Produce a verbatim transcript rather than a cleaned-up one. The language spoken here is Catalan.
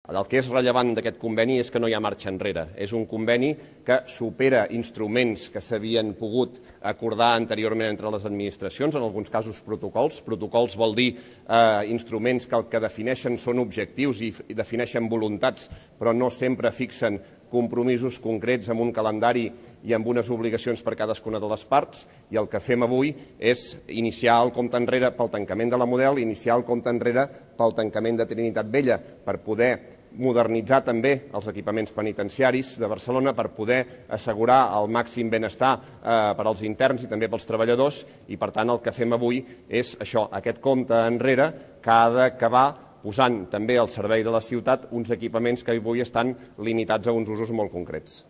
El que és rellevant d'aquest conveni és que no hi ha marxa enrere. És un conveni que supera instruments que s'havien pogut acordar anteriorment entre les administracions, en alguns casos protocols. Protocols vol dir eh, instruments que el que defineixen són objectius i defineixen voluntats, però no sempre fixen compromisos concrets amb un calendari i amb unes obligacions per cadascuna de les parts, i el que fem avui és iniciar el compte enrere pel tancament de la Model, iniciar el compte enrere pel tancament de Trinitat Vella, per poder modernitzar també els equipaments penitenciaris de Barcelona, per poder assegurar el màxim benestar eh, per als interns i també pels treballadors, i per tant el que fem avui és això, aquest compte enrere que ha d'acabar posant també al servei de la ciutat uns equipaments que avui estan limitats a uns usos molt concrets.